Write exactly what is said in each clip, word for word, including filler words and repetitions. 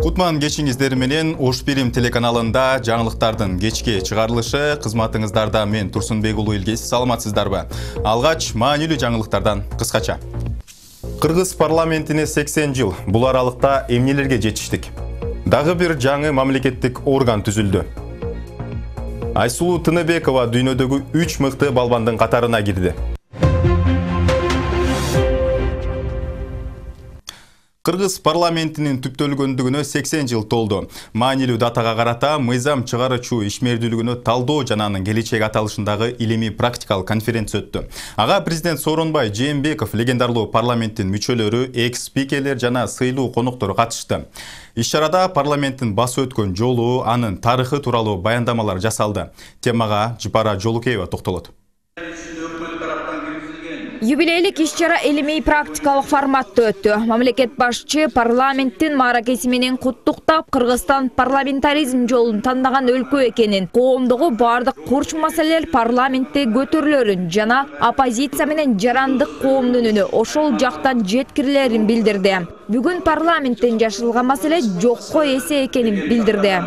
Кутман кечиңиздер менен Ош Бирим телеканалында жаңылыктардын кечки чыгарылышы. Кызматыңыздарда мен Турсунбек уулу Илгиз. Саламатсыздарбы? Алгач маанилүү жаңылыктардан кыскача. Кыргыз парламентине сексен жыл. Бул аралыкта эмнелерге жетиштик? Дагы бир жаңы мамлекеттик орган түзүлдү. Айсулуу Тыныбекова дүйнөдөгү үч мыкты балбандын катарына кирди. Кыргыз парламентинин түптөлгөндүгүнө сексен жыл толду. Маанилүү датага карата мыйзам чыгаруучу ишмердүүлүгүнө талдоо жана анын келечеги аталышындагы илимий практикалык конференция өттү. Ага президент Сооронбай Жээнбеков, легендарлуу парламенттин мүчөлөрү, экс-спикерлер жана сыйлуу коноктор катышты. Иш-чарада парламенттин басып өткөн жолу, анын тарыхы тууралуу баяндамалар жасалды. Темага Жыпара Жолукеева токтолот. Юбилейлик иш-чара илимий практикалык форматта өттү. Мамлекет башчы парламенттин мааракеси менен куттуктап, Кыргызстан парламентаризм жолун тандаган өлкө экенин, коомдогу бардык курч маселелер парламентте көтөрүлөрүн жана оппозиция менен жарандык коомдун үнү ошол жактан жеткирилерин билдирди. Бүгүн парламенттен жашырылган маселе жокко эсе экенин билдирди.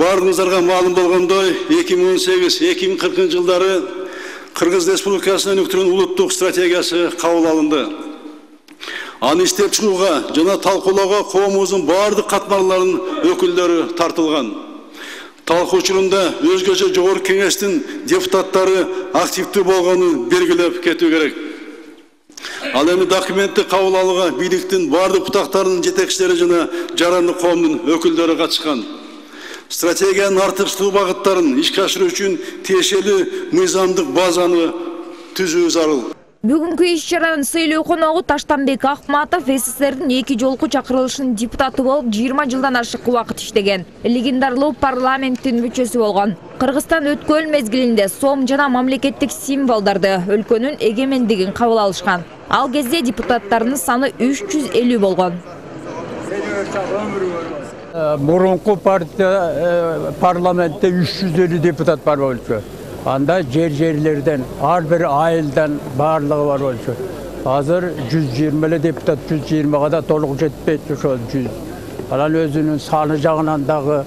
Баарыңыздарга маалым болгондой, эки миң он сегиз эки миң кыркынчы жылдары Кыргыз Республикасынын өнүктүрүүнүн улуттук стратегиясы кабыл алынды. Аны иштеп чыгууга жана талкуулоого коомубуздун бардык катмарларынын өкүлдөрү тартылган. Талкуу учурунда өзгөчө жогорку кеңештин депутаттары активдүү болгонун белгилеп кетүү керек. Ал эми документти кабыл алууга бийликтин бардык бутактарынын жетекчилери жана жарандык коомдун өкүлдөрү катышкан. Стратегиянын артыкчылуу багыттарын ишке ашыруу үчүн тиешелүү мыйзамдык базаны түзүү зарыл. Бүгүнкү иш-чаранын сыйлуу коногу Таштанбек Акматов СССРдин эки жолку чакырылышынын депутаты болуп жыйырма жылдан ашык убакыт иштеген. Легендарлуу парламенттин мүчөсү болгон. Кыргызстан өткөн мезгилинде сом жана мамлекеттик символдорду, өлкөнүн эгемендигин кабыл алышкан. Ал кезде депутаттарынын саны үч жүз элүү болгон. Мурунку партия парламентте үч жүз элүү депутат бар болчу. Анда жер-жерлерден, ар бир айылдан барлыгы бар болчу. Азыр жүз жыйырма эле депутат, жүз жыйырмага да толук жетпейт ошол жүз. Анан өзүнүн саны жагынан дагы,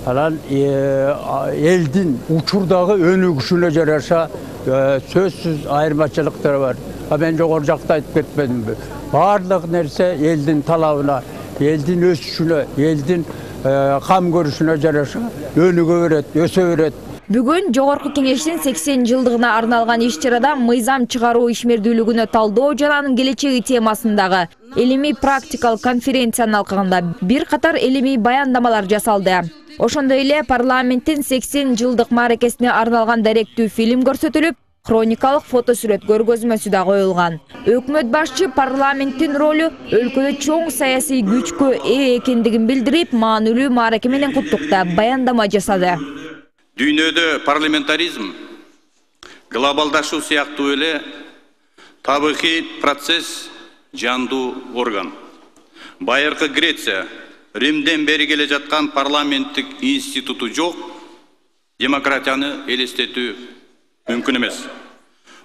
анан элдин учурдагы өнүгүшүнө жараша сөзсүз айырмачылыктар бар. Мен жогору жакта айтып кетпедимби? Барлык нерсе элдин талабына, элдин өсүшүнө, элдин кам көрүшүнө жараша өнүгө берет, өсө берет. Бүгүн жогорку кеңештин сексен жылдыгына арналган иш-чарада мыйзам чыгаруу ишмердүүлүгүнө талдоо жана анын келечеги темасындагы илимий практикалык конференциянын алкагында бир катар илимий баяндамалар жасалды. Ошондой эле парламенттин сексен жылдык мааракесине арналган даректүү фильм көрсөтүлүп, хроникалык фотосүрөт көргөзмөсү да коюлган. Өкмөт башчы парламенттин ролу өлкөдө чоң саясий күчкө ээ экендигин билдирип, маанилүү маараке менен куттуктап баяндама жасады. Дүйнөдө парламентаризм глобалдашуу сыяктуу эле табигый процесс, жандуу орган. Байыркы Греция, Римден бери келе жаткан парламенттик институту жок, демократияны элестетүү мүмкүн эмес.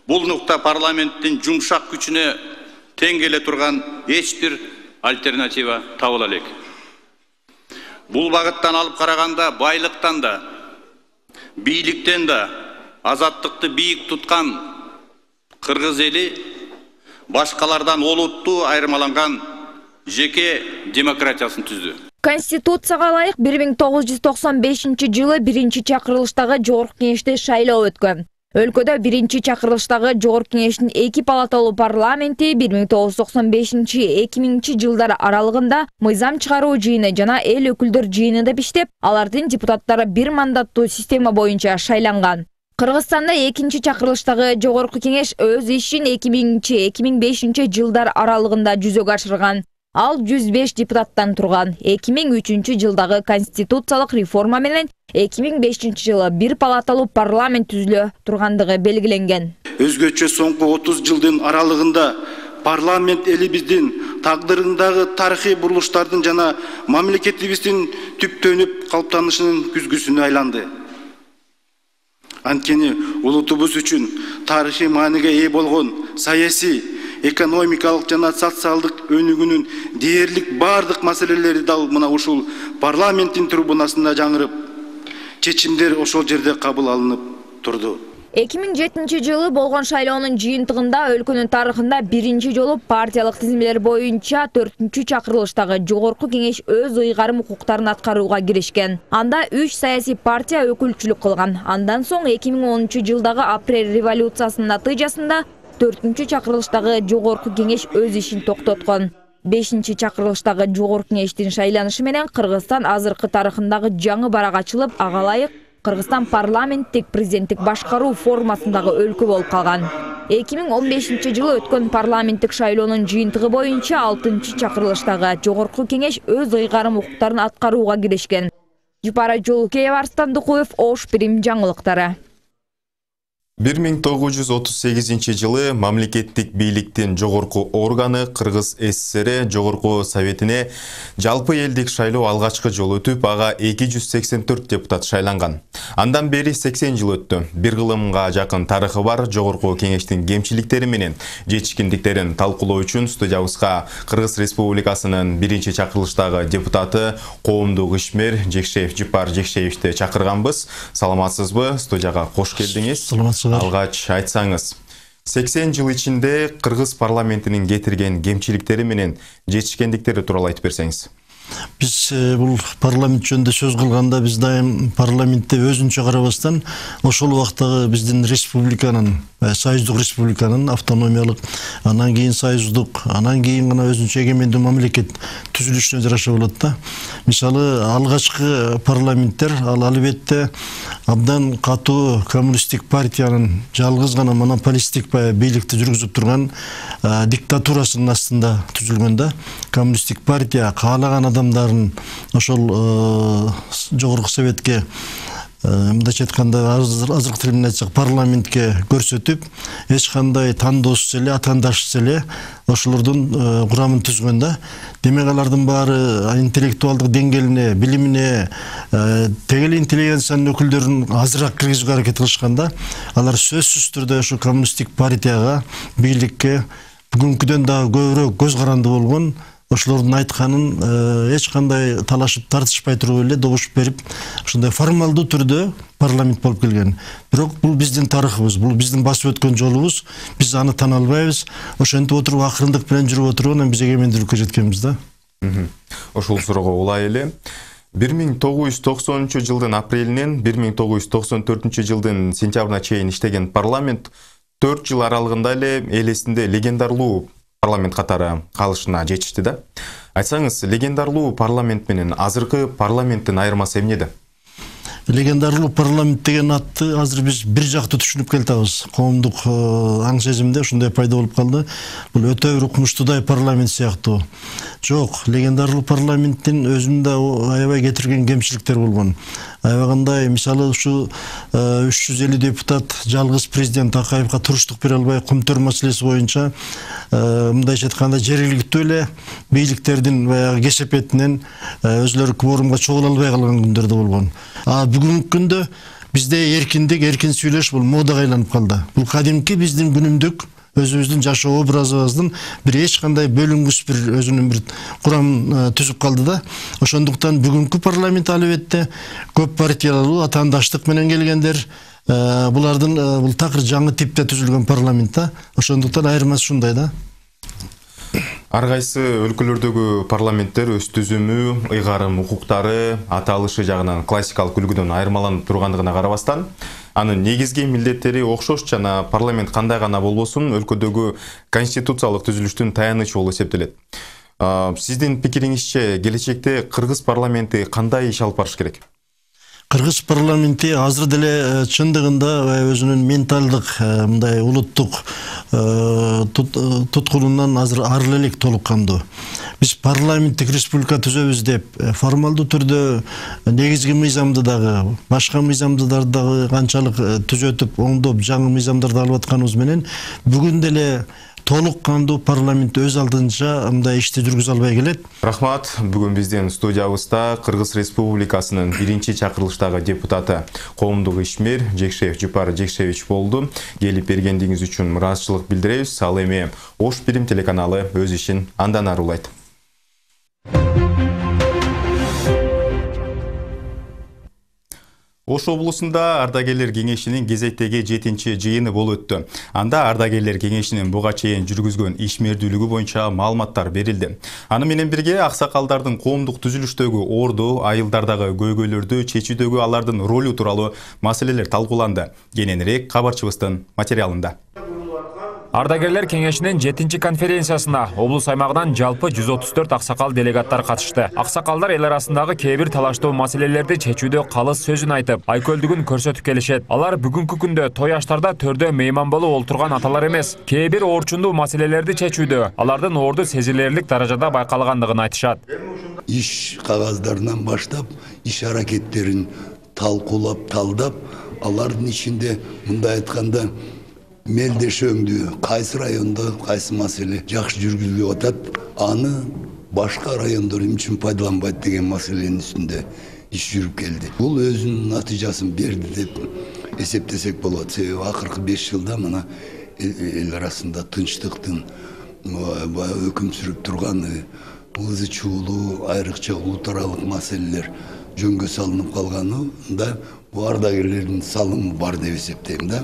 Бул нукта парламенттин жумшак күчүнө тең келе турган эч бир альтернатива табыла элек. Бул багыттан алып караганда байлыктан да, бийликтен да азаттыкты бийик туткан кыргыз эли башкалардан олуттуу айырмаланган жеке демократиясын түздү. Конституцияга ылайык бир миң тогуз жүз токсон бешинчи жылы биринчи чакырылыштагы жогорку кеңеште шайлоо өткөн. Өлкөдө биринчи чакырылыштагы жогорку кеңештин эки палаталуу парламенти бир миң тогуз жүз токсон бешинчи эки миңинчи жылдар аралыгында мыйзам чыгаруу жыйыны жана эл өкүлдөр жыйыны деп иштеп, алардын депутаттары бир мандаттуу система боюнча шайланган. Кыргызстанда экинчи чакырылыштагы жогорку кеңеш өз ишин эки миңинчи эки миң бешинчи жылдар аралыгында жүзөгө ашырган. Ал жүз беш депутаттан турган. эки миң үчүнчү жылдагы конституциялык реформа менен эки миң бешинчи жылы бир палаталуу парламент түзүлө тургандыгы белгиленген. Өзгөчө соңку отуз жылдын аралыгында парламент элибиздин тагдырындагы тарыхый бурулуштардын жана мамлекетибиздин түптөнүп калыптанышынын күзгүсүнө айланды. Анткени улутубуз үчүн тарыхый мааниге ээ болгон саясий, экономикалык жана социалдык өнүгүүнүн дээрлик бардык маселелери дал мына ушул парламенттин трибунасында жаңырып, чечимдер ошол жерде кабыл алынып турду. эки миң жетинчи жылы болгон шайлоонун жыйынтыгында өлкөнүн тарыхында биринчи жолу партиялык тизимелер боюнча төртүнчү чакырылыштагы жогорку кеңеш өз ыйгарым укуктарын аткарууга киришкен. Анда үч саясий партия өкүлчүлүк кылган. Андан соң эки миң онунчу жылдагы апрель революциясынын натыйжасында төртүнчү чакырылыштагы жогорку кеңеш өз ишин токтоткон. бешинчи чакырылыштагы жогорку кеңештин шайланышы менен Кыргызстан азыркы тарыхындагы жаңы барак ачылып, ага ылайык Кыргызстан парламенттик президенттик башкаруу формасындагы өлкө болуп калган. эки миң он бешинчи жылы өткөн парламенттик шайлоонун жыйынтыгы боюнча алтынчы чакырылыштагы жогорку кеңеш өз ыйгарым укуктарын аткарууга киришкен. Жупара Жолукеева, Арстан Дукуев, Ош Прим жаңылыктары. бир миң тогуз жүз отуз сегизинчи жылы мамлекеттик бийликтин жогорку органы Кыргыз ССР Жогорку Советине жалпы элдик шайлоо алгачкы жолу өтүп, ага эки жүз сексен төрт депутат шайланган. Андан бери сексен жыл өттү. Бир кылымга жакын тарыхы бар Жогорку кеңештин кемчиликтери менен жетишкендиктерин талкуулоо үчүн студиябызга Кыргыз Республикасынын биринчи чакырылыштагы депутаты коомдук ишмер Жекшеев Жупар Жекшеевди чакырганбыз. Саламатсызбы? Студияга кош келдиңиз. Алгач айтсаңыз, сексен жыл ичинде Кыргыз парламентинин кетирген кемчиликтери менен жетишкендиктери тууралуу айтып берсеңиз. Биз бул парламент жөнүндө сөз кылганда биз дайым парламентте өзүнчө карабастан ошол убактагы биздин республиканын, союздук республиканын автономиялык, анан кийин союздук, анан кийин гана өзүнчө эгемендүү мамлекет түзүлүшүнө жараша болот да. Мисалы, алгачкы парламенттер ал албетте абдан катуу коммунисттик партиянын жалгыз гана монополисттик бийликти жүргүзүп турган диктатурасынын астында түзүлгөн да. Коммунисттик партия каалаган адамдарын ошол жогорку советке, мындайча айтканда азыркы тил менен айтсак парламентке көрсөтүп, эч кандай тандоосуз эле, атаандашсыз эле ошолордун курамын түзгөн да. Демек алардын баары интеллектуалдык деңгээлине, билимине, тең эле интеллигенциянын өкүлдөрүн азыраак киргизүүгө аракет кылышканда, алар сөзсүз түрдө ошо коммунисттик партияга, бийликке бүгүнкүдөн дагы көбүрөөк көз каранды болгон, ошолордун айтканын эч кандай талашып тартышпай туруп эле добуш берип, ошондой формалдуу түрдө парламент болуп келген. Бирок бул биздин тарыхыбыз, бул биздин басып өткөн жолубуз, биз аны тана албайбыз. Ошентип отуруп акырындык менен жүрүп отуруп, анан биз эгемендүүлүккө жеткенбиз да. Ошол суроого улай эле. бир миң тогуз жүз токсонунчу жылдын апрелинен бир миң тогуз жүз токсон төртүнчү жылдын сентябрына чейин иштеген парламент төрт жыл аралыгында эле эл эсинде легендарлуу парламент катары калышына жетишти да. Айтсаңыз, легендарлуу парламент менен азыркы парламенттин айырмасы эмнеде? Легендарлуу парламент деген атты азыр биз бир жактуу түшүнүп келатабыз. Коомдук аң сезимде ушундай пайда болуп калды. Бул өтө бир укмуштуудай парламент сыяктуу. Жок, легендарлуу парламенттин өзүндө аябай кетирген кемчиликтер болгон. Аябагандай, мисалы, ушу үч жүз элүү депутат жалгыз президент Акаевга туруштук бере албай, Кумтөр маселеси боюнча мындайча айтканда жергиликтүү эле бийликтердин баягы кесепетинен өзлөрү кворумга чогула албай калган күндөр да болгон. А бүгүнкү күндө бизде эркиндик, эркин сүйлөш бул модага айланып калды. Бул кадимки биздин күнүмдүк өзүбүздүн жашоо образыбыздын бир эч кандай бөлүнгүс бир өзүнүн бир курамын түзүп калды да. Ошондуктан бүгүнкү парламент албетте көп партиялуу атаандаштык менен келгендер, булардын бул такыр жаңы типте түзүлгөн парламент да. Ошондуктан айырмасы ушундай да. Ар кайсы өлкөлөрдөгү парламенттер өз түзүмү, ыйгарым укуктары, аталышы жагынан классикалык үлгүдөн айырмаланып тургандыгына карабастан, анын негизги милдеттери окшош жана парламент кандай гана болбосун өлкөдөгү конституциялык түзүлүштүн таянычы болуп эсептелет. Сиздин пикириңизче келечекте Кыргыз парламенти кандай иш алып барыш керек? Кыргыз парламенти азыр деле чындыгында өзүнүн менталдык мындай улуттук туткунунан азыр ары элек толук кандуу. Биз парламенттик республика түзөбүз деп формалдуу түрдө негизги мыйзамды дагы, башка мыйзамдарды дагы канчалык түзөтүп, оңдоп, жаңы мыйзамдарды алып атканыбыз менен бүгүн деле толук кандуу парламент өз алдынча мындай ишти жүргүзө албай келет. Рахмат. Бүгүн биздин студиябызда Кыргыз Республикасынын биринчи чакырылыштагы депутаты коомдук ишмер Жекшеев Жупар Жекшевич болду. Келип бергендигиңиз үчүн муратчылык билдиребиз. Ал эми Ош Бирим телеканалы өз ишин андан ары улайт. Ош облусунда ардагерлер кеңешинин кезектеги жетинчи жыйыны болуп өттү. Анда ардагерлер кеңешинин буга чейин жүргүзгөн ишмердүүлүгү боюнча маалыматтар берилди. Аны менен бирге аксакалдардын коомдук түзүлүштөгү орду, айылдардагы көйгөйлөрдү чечүүдөгү алардын ролу тууралуу маселелер талкууланды. Кененирээк кабарчыбыздын материалында. Ардагерлер кеңешинин жетинчи конференциясына облус аймагынан жалпы жүз отуз төрт аксакал делегаттар катышты. Аксакалдар эл арасындагы кээ бир талаштуу маселелерди чечүүдө калыс сөзүн айтып, айкөлдүгүн көрсөтүп келишет. Алар бүгүнкү күндө той аштарда төрдө мейман болуп олтурган аталар эмес, кээ бир оорчундуу маселелерди чечүүдө алардын орду сезилерлик даражада байкалгандыгын айтышат. Иш кагаздарынан баштап, иш аракеттерин талкуулап, талдап, алардын ичинде мындай айтканда мелдешөңдү кайсы райондо кайсы маселе жакшы жүргүзүлүп атат, аны башка райондор эмне үчүн пайдаланбайт деген маселенин үстүндө иш жүрүп келди. Бул өзүнүн натыйжасын берди деп эсептесек болот. Себеби акыркы беш жылда мына эл арасында тынчтыктын өкүм сүрүп турганы, ызы чуулуу, айрыкча улут аралык маселелер жөнгө салынып калганында бул ардагерлердин салымы бар деп эсептейм да.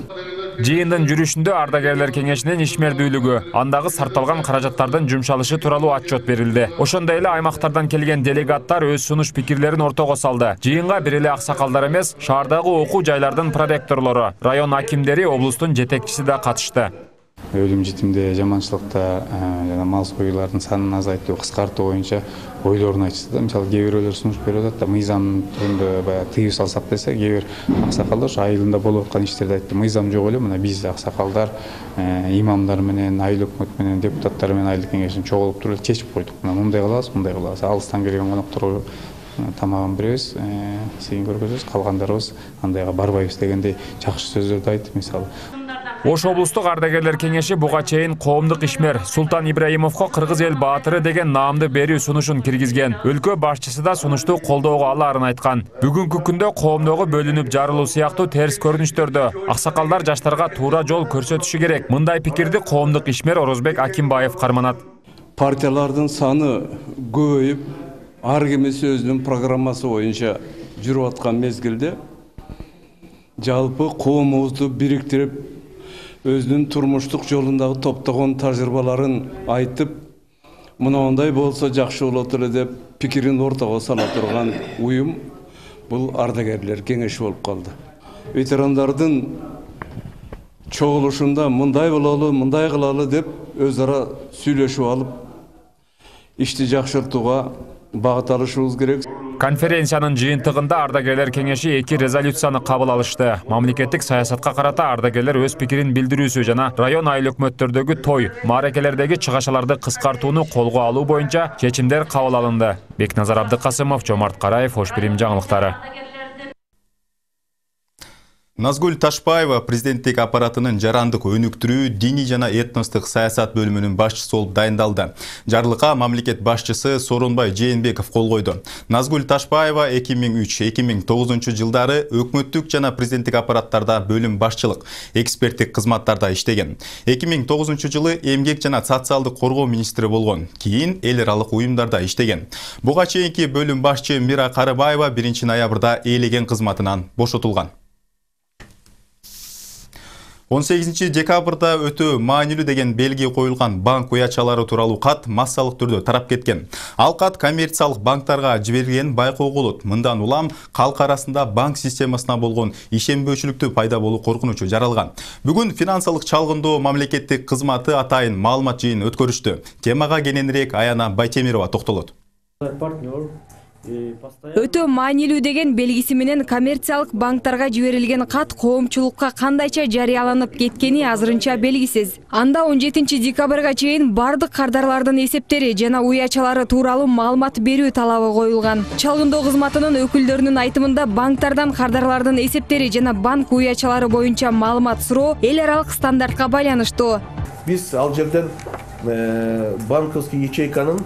Жыйындын жүрүшүндө ардагерлер кеңешинин ишмердүүлүгү, андагы сарталган каражаттардын жумшалышы тууралуу отчет берилди. Ошондой эле аймактардан келген делегаттар өз сунуш пикирлерин ортого салды. Жыйынга бир эле аксакалдар эмес, шаардагы окуу жайлардын проректорлору, район акимдери, облустун жетекчиси да катышты. Өлүм житимде, жаманчылыкта жана мал союлардын санын азайтуу, кыскартуу боюнча ойлорун айтышты да. Мисалы, кээ бирөөлөр сунуш берип атат да, мыйзам түрүндө баягы тыюу салсак десе, кээ бир аксакалдар ошо айылында болуп аткан иштерди айтты. Мыйзам жок эле, мына биз аксакалдар, имамдар менен, айыл өкмөт менен, депутаттар менен айыл кеңешин чогулуп туруп чечип койдук. Мына мындай кылабыз, мындай кылабыз. Алыстан келген конокторго тамагын беребиз, сыйын көргөзөбүз, калгандарыбыз андайга барбайбыз дегендей жакшы сөздөрдү айтты мисалы. Ош облустук ардагерлер кеңеши буга чейин коомдук ишмер Султан Ибраимовго кыргыз эл баатыры деген наамды берүү сунушун киргизген. Өлкө башчысы да сунушту колдоого алаарын айткан. Бүгүнкү күндө коомдогу бөлүнүп жарылуу сыяктуу терс көрүнүштөрдө аксакалдар жаштарга туура жол көрсөтүшү керек. Мындай пикирди коомдук ишмер Орозбек Акимбаев карманат. Партиялардын саны көбөйүп, ар кимиси өзүнүн программасы боюнча жүрүп аткан мезгилде жалпы коомубузду бириктирип, өзүнүн турмуштук жолундагы топтогон тажрыйбаларын айтып, мынандай болсо жакшы болот эле деп пикирин ортого сала турган уюм бул ардагерлер кеңеши болуп калды. Ветерандардын чогулушунда мындай бололу, мындай кылалы деп өз ара сүйлөшүп алып, ишти жакшыртууга багыт алышыбыз керек. Конференциянын жыйынтыгында ардагерлер кеңеши эки резолюцияны кабыл алышты. Мамлекеттик саясатка карата ардагерлер өз пикирин билдирүүсү жана район айыл өкмөттөрдөгү той, мааракелердеги чыгашаларды кыскартууну колго алуу боюнча чечимдер кабыл алынды. Бекназар Абдыкасымов, Жомарт Караев, Ош Бирим жаңылыктары. Назгүл Ташбаева президенттик аппаратынын жарандык өнүктүрүү, диний жана этностук саясат бөлүмүнүн башчысы болуп дайындалды. Жарлыкка мамлекет башчысы Сооронбай Жээнбеков кол койду. Назгүл Ташбаева эки миң үч — эки миң тогузунчу жылдары өкмөттүк жана президенттик аппараттарда бөлүм башчылык, эксперттик кызматтарда иштеген. эки миң тогузунчу жылы эмгек жана социалдык коргоо министри болгон. Кийин эл аралык уюмдарда иштеген. Буга чейинки бөлүм башчы Мира Карыбаева биринчи ноябрда ээлеген кызматынан бошотулган. он сегизинчи декабрда өтө маанилүү деген белги коюлган банк уячалары тууралуу кат массалык түрдө тарап кеткен. Ал кат коммерциялык банктарга жиберилген байкоого болот. Мындан улам калк арасында банк системасына болгон ишенбөөчүлүктү пайда болуу коркунучу жаралган. Бүгүн финансылык чалгындоо мамлекеттик кызматы атайын маалымат жыйын өткөрүштү. Темага кененирээк Аяна Байтемирова токтолот. Өтө маанилүү деген белгиси менен коммерциялык банктарга жиберилген кат коомчулукка кандайча жарыяланып кеткени азырынча белгисиз. Анда он жетинчи декабрга чейин бардык кардарлардын эсептери жана уячалары тууралуу маалымат берүү талабы коюлган. Чалгындоо кызматынын өкүлдөрүнүн айтымында банктардан кардарлардын эсептери жана банк уячалары боюнча маалымат суроо эл аралык стандартка байланыштуу. Биз ал жерден банковский ячейканын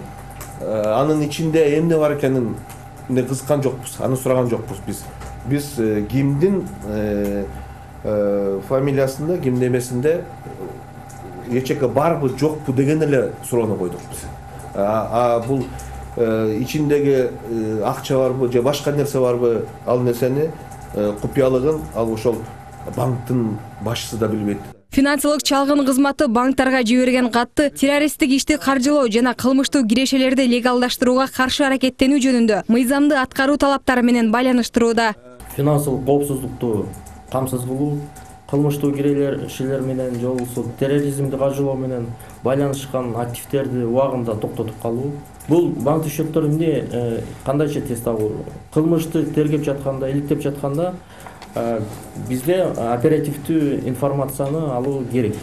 анын ичинде эмне бар экенин кызыккан жокпуз, аны сураган жокпуз биз. Биз кимдин фамилиясында, кимдин эмесинде ячейка барбы, жокпу деген эле суроону койдук биз. А бул ичиндеги акча барбы же башка нерсе барбы, ал нерсени купуялыгын ал ошол банктын башчысы да билбейт. Финансылык чалгын кызматы банктарга жиберген катты террористтик ишти каржылоо жана кылмыштуу кирешелерди легалдаштырууга каршы аракеттенүү жөнүндө мыйзамды аткаруу талаптары менен байланыштырууда. Финансылык коопсуздукту камсыз кылуу, кылмыштуу кирешелер менен же болбосо терроризмди каржылоо менен байланышкан активдерди убагында токтотуп калуу. Бул банк счеттор эмне кандайча тез табуу? Кылмышты тергеп жатканда, иликтеп жатканда бизде оперативдүү информацияны алуу керек.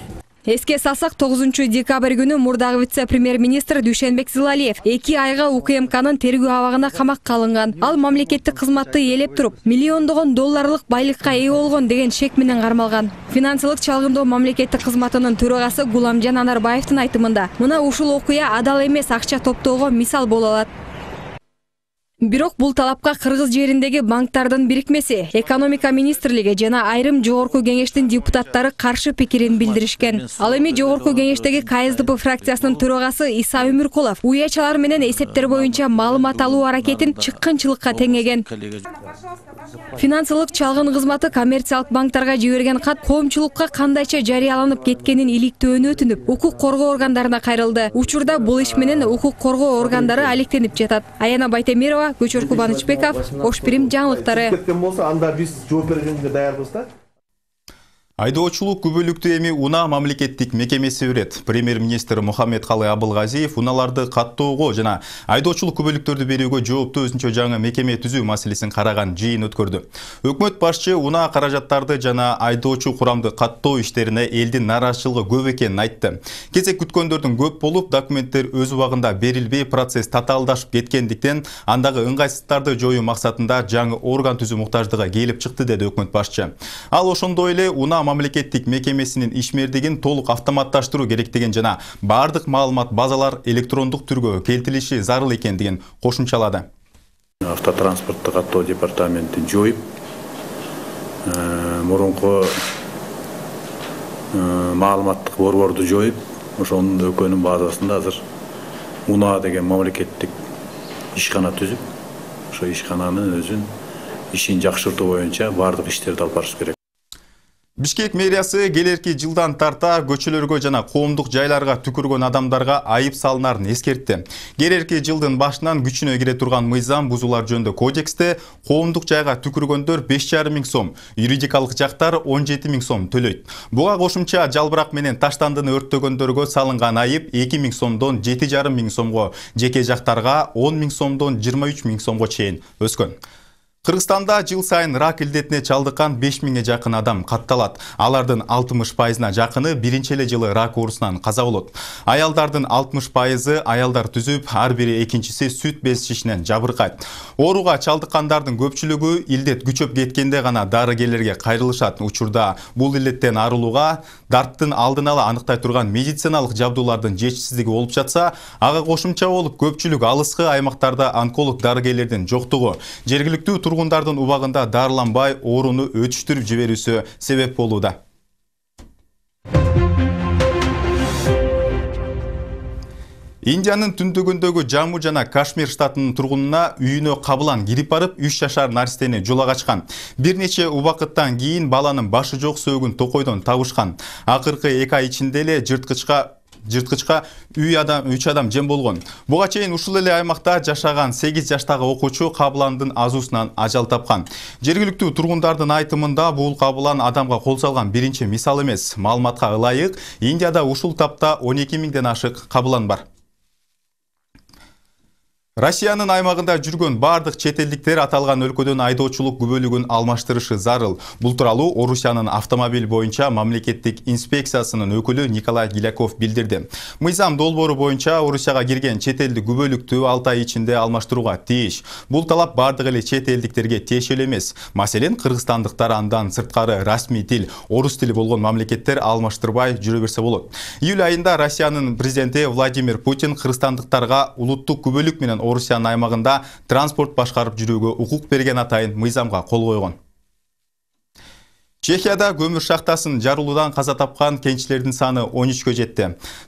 Эске салсак, тогузунчу декабрь күнү мурдагы вице-премьер-министр Дүйшенбек Зилалиев эки айга УКМКнын тергөө абагына камакка алынган. Ал мамлекеттик кызматты ээлеп туруп, миллиондогон долларлык байлыкка ээ болгон деген шек менен кармалган. Финансылык чалгындоо мамлекеттик кызматынын төрагасы Гуламжан Анарбаевдин айтымында, мына ушул окуя адал эмес акча топтоого мисал боло алат. Бирок бул талапка Кыргыз жериндеги банктардын бирикмеси, экономика министрлиги жана айрым жогорку кеңештин депутаттары каршы пикирин билдиришкен. Ал эми жогорку кеңештеги КСДП фракциясынын төрагасы Иса Өмүркулов уячалар менен эсептер боюнча маалымат алуу аракетин чыккынчылыкка теңеген. Финансылык чалгын кызматы коммерциялык банктарга жиберген кат коомчулукка кандайча жарыяланып кеткенин иликтөөнү өтүнүп, укук коргоо органдарына кайрылды. Учурда бул иш менен укук коргоо органдары алектенип жатат. Аяна Байтемирова, Көчөр Кубанычбеков, Ош Бирим жаңылыктары. Кеткен болсо, анда биз жооп бергенге даярбыз да. Айдоочулук күбөлүктүү эми УНА мамлекеттик мекемеси өрет. Премьер-министр Мухаммедкалы Абылгазиев уналарды каттоого жана айдоочулук күбөлүктөрдү берүүгө жооптуу өзүнчө жаңы мекеме түзүү маселесин караган жыйын өткөрдү. Өкмөт башчы УНА каражаттарды жана айдоочу курамды каттоо иштерине элдин нааразычылыгы көп экенин айтты. Кезек күткөндөрдүн көп болуп, документтер өз убагында берилбей, процесс татаалдашып кеткендиктен андагы ыңгайсыздыктарды жоюу максатында жаңы орган түзүү муктаждыгы келип чыкты, деди өкмөт башчы. Ал ошондой эле УНА мамлекеттик мекемесинин ишмердигин толук автоматташтыруу керектигин жана бардык маалымат базалар электрондук түргө келтирилиши зарыл экендигин кошумчалады. Автотранспорттук каттоо департаментин жоюп, мурунку маалыматтык борборду жоюп, ошонун экөөнүн базасында азыр УНА деген мамлекеттик ишкана түзүп, ошо ишкананын өзүн ишин жакшыртуу боюнча бардык иштерди алып барыш керек. Бишкек мэриясы келерки жылдан тарта көчөлөргө жана коомдук жайларга түкүргөн адамдарга айып салынарын эскертти. Келерки жылдын башынан күчүнө кире турган мыйзам бузуулар жөнүндө кодексте коомдук жайга түкүргөндөр беш жарым миң сом, юридикалык жактар он жети миң сом төлөйт. Буга кошумча жалбырак менен таштандыны өрттөгөндөргө салынган айып эки миң сомдон жети жарым миң сомго, жеке жактарга он миң сомдон жыйырма үч миң сомго чейин өскөн. Кыргызстанда жыл сайын рак илдетине чалдыккан беш миңге жакын адам катталат. Алардын алтымыш пайызына жакыны биринчи эле жылы рак оорусунан каза болот. Аялдардын алтымыш пайызы аялдар түзүп, ар бири экинчиси сүт безишинен жабыркайт. Ооруга чалдыккандардын көпчүлүгү илдет күчөп кеткенде гана дарыгерлерге кайрылышат. Учурда бул илдеттен арылууга дарттын алдын ала аныктай турган медициналык жабдуулардын жетишсиздиги болуп жатса, ага кошумча болуп көпчүлүк алыскы аймактарда онколог дарыгерлердин жоктугу, жергиликтүү тургундардын убагында дарыланбай ооруну өтүштүрүп жиберүүсү себеп болууда. Индиянын түндүгүндөгү Жамму жана Кашмир штатынын тургунуна үйүнө кабылан кирип барып, үч жашар наристени жула качкан. Бир нече убакыттан кийин баланын башы жок сөөгүн токойдон табышкан. Акыркы эки ай ичинде эле жырткычка жырткычка үч адам үч адам жем болгон. Буга чейин ушул эле аймакта жашаган сегиз жаштагы окуучу кабыландын азуусунан ажал тапкан. Жергиликтүү тургундардын айтымында бул кабылан адамга кол салган биринчи мисал эмес. Маалыматка ылайык, Индияда ушул тапта он эки миңден ашык кабылан бар. Россиянын аймагында жүргөн бардык чет элдиктер аталган өлкөдөн айдоочулук күбөлүгүн алмаштырышы зарыл. Бул тууралуу Орусиянын автомобиль боюнча мамлекеттик инспекциясынын өкүлү Николай Гиляков билдирди. Мыйзам долбоору боюнча Орусияга кирген чет элдик күбөлүктү алты ай ичинде алмаштырууга тийиш. Бул талап бардык эле чет элдиктерге тиешелүү эмес. Маселен, кыргызстандыктар андан сырткары расмий тил, орус тили болгон мамлекеттер алмаштырбай жүрө берсе болот. Июль айында Россиянын президенти Владимир Путин кыргызстандыктарга улуттук күбөлүк менен Орусиянын аймагында транспорт башкарып жүрүүгө укук берген атайын мыйзамга кол койгон. Чехияда көмүр шахтасын жарылуудан каза тапкан кенчилердин саны он үчкө жетти.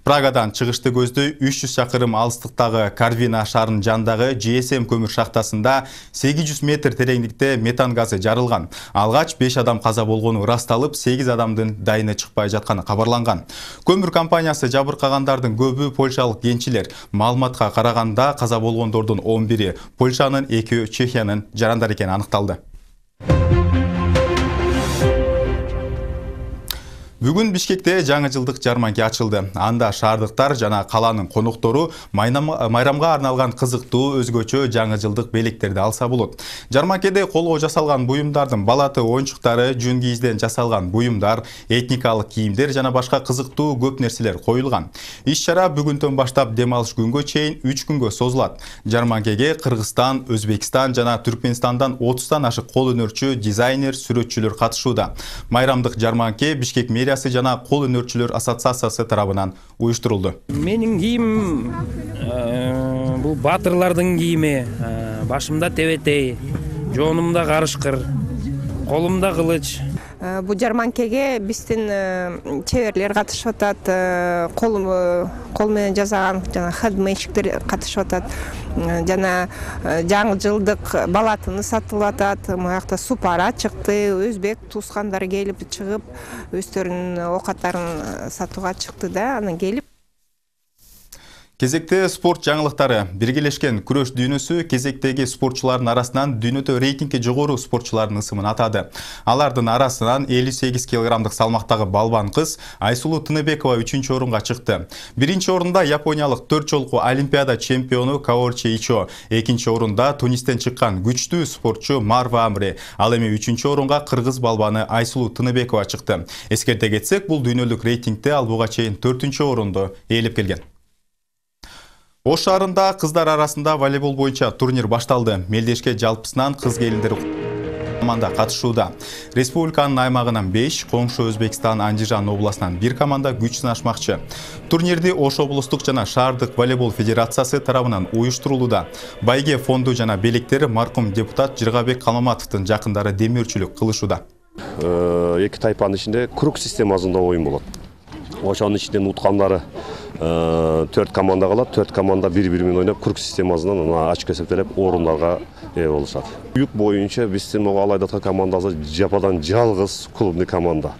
Прагадан чыгышты көздөй үч жүз чакырым алыстыктагы Карвина шаарынын жанындагы Джи Эс Эм көмүр шахтасында сегиз жүз метр тереңдикте метан газы жарылган. Алгач беш адам каза болгону ырасталып, сегиз адамдын дайыны чыкпай жатканы кабарланган. Көмүр компаниясы жабыркагандардын көбү польшалык кенчилер. Маалыматка караганда каза болгондордун он бири Польшанын, экөө Чехиянын жарандары экени аныкталды. Бүгүн Бишкекте жаңы жылдык жарманке ачылды. Анда шаардыктар жана каланын коноктору майрамга арналган кызыктуу өзгөчө жаңы жылдык белектерди алса болот. Жарманкеде колго жасалган буюмдардын балаты оюнчуктары, жүн кийизден жасалган буюмдар, этникалык кийимдер жана башка кызыктуу көп нерселер коюлган. Иш-чара бүгүндөн баштап дем алыш күнгө чейин үч күнгө созулат. Жарманкеге Кыргызстан, Өзбекстан жана Түркменистандан отуздан ашык кол өнөрчү, дизайнер, сүрөтчүлөр катышууда. Майрамдык жарманке Бишкек мэриясы жана кол өнөрчүлөр ассоциациясы тарабынан уюштурулду. Менин кийимим бул батырлардын кийими. Башымда тебетей, жоонумда карышкыр, колумда кылыч. Бул жарманкеге биздин чеберлер катышып атат, кол кол менен жасаган жана хендмейдчиктер катышып атат. Жана жаңы жылдык балатыны сатылып атат. Муякта супара чыкты, өзбек туускандары келип чыгып, өздөрүнүн оокаттарын сатууга чыкты да, анан келип. Кезекте спорт жаңылыктары. Биргелешкен күрөш дүйнөсү кезектеги спортчулардын арасынан дүйнөдө рейтингге жогору спортчулардын ысымын атады. Алардын арасынан элүү сегиз килограммдык салмактагы балбан кыз Айсулуу Тыныбекова үчүнчү орунга чыкты. Биринчи орунда япониялык төрт жолку олимпиада чемпиону Каорчи Ичо, экинчи орунда Тунистен чыккан күчтүү спортчу Марва Амри, ал эми үчүнчү орунга кыргыз балбаны Айсулуу Тыныбекова чыкты. Эскерте кетсек, бул дүйнөлүк рейтингде ал буга чейин төртүнчү орунду ээлеп келген. Ош шаарында кыздар арасында волейбол боюнча турнир башталды. Мелдешке жалпысынан кыз келиндер команда катышууда. Республиканын аймагынан беш, коңшу Өзбекстан Андижан областынан бир команда күч сынашмакчы. Турнирди Ош облустук жана шаардык волейбол федерациясы тарабынан уюштурулууда. Байге фонду жана белектер маркум депутат Жыргабек Калмаматовдун жакындары демөөрчүлүк кылышууда. Эки тайпанын ичинде круг системасында оюн болот. Ошонун ичинен уткандары төрт команда калат, төрт команда бири-бири менен ойноп, круг системасынан ачык эсептелип орундарга ээ болушат. Юг боюнча биздин могу алайдаткан командасы жападан жалгыз клубный команда.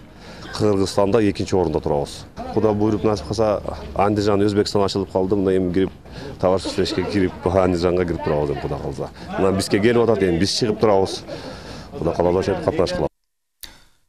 Кыргызстанда экинчи орунда турабыз. Куда буйруп насип калса, Андижан Өзбекстан ачылып калды, мына эми кирип товарищество ишке кирип Андижанга кирип турабыз эми куда калса. Мына бизге келип атат, эми биз чыгып турабыз. Куда калса ошентип катнашып калабыз.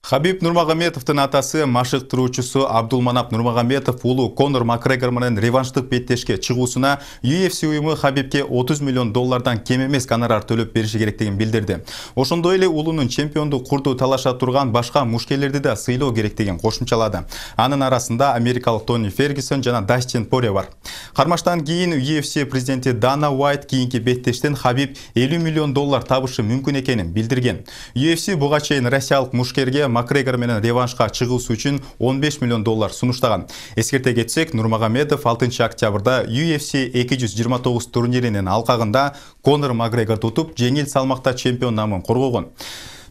Хабиб Нурмагомедовдун атасы машыктыруучусу Абдулманап Нурмагомедов уулу Конор Макгрегор менен реванштык беттешке чыгуусуна Ю Эф Си уюму Хабибке отуз миллион доллардан кем эмес гонорар төлөп бериши керектигин билдирди. Ошондой эле уулунун чемпиондук курду талаша турган башка мушкерлерди да сыйлоо керектигин кошумчалады. Анын арасында америкалык Тони Фергюсон жана Дастин Порье бар. Кармаштан кийин Ю Эф Си президенти Дана Уайт кийинки беттештен Хабиб элүү миллион доллар табышы мүмкүн экенин билдирген. Ю Эф Си буга чейин россиялык мушкерге Макгрегор менен реваншка чыгуусу үчүн он беш миллион доллар сунуштаган. Эскерте кетсек, Нурмагомедов алтынчы октябрда Ю Эф Си эки жүз жыйырма тогуз турниринин алкагында Конор Макгрегорду утуп, жеңил салмакта чемпион намын коргогон.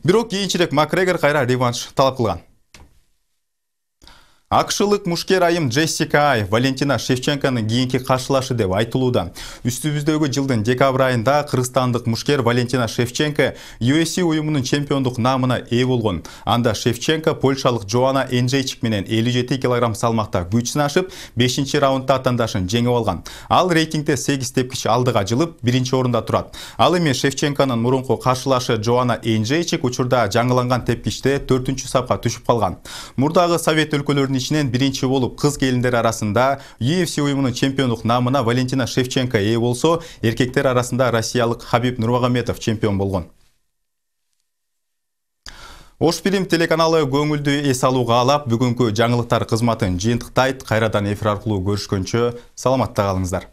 Бирок кийинчерээк Макгрегор кайра реванш талап кылган. Акшылык мушкер айым Джессика Ай Валентина Шевченконун кийинки каршылашы деп айтылууда. Үстүбүздөгү жылдын декабрь айында кыргызстандык мушкер Валентина Шевченко Ю Эф Си уюмунун чемпиондук наамына ээ болгон. Анда Шевченко польшалык Джоана Энджейчик менен элүү жети килограмм салмакта күч сынашып, бешинчи раундда атаандашын жеңип алган. Ал рейтингде сегиз тепкич алдыга жылып, биринчи орунда турат. Ал эми Шевченконун мурунку каршылашы Джоана Энджейчик учурда жаңыланган тепкичте төртүнчү сапка түшүп калган. Мурдагы Совет өлкөлөрүнүн ишмердүүлүктүн ичинен биринчи болуп кыз келиндер арасында ю эф си уюмунун чемпиондук наамына Валентина Шевченко ээ болсо, эркектер арасында россиялык Хабиб Нурмагомедов чемпион болгон. Ош Фильм телеканалы көңүлдү эс алууга каалап, бүгүнкү жаңылыктар кызматын жыйынтыктайт. Кайрадан эфир аркылуу көрүшкөнчө саламатта калыңыздар.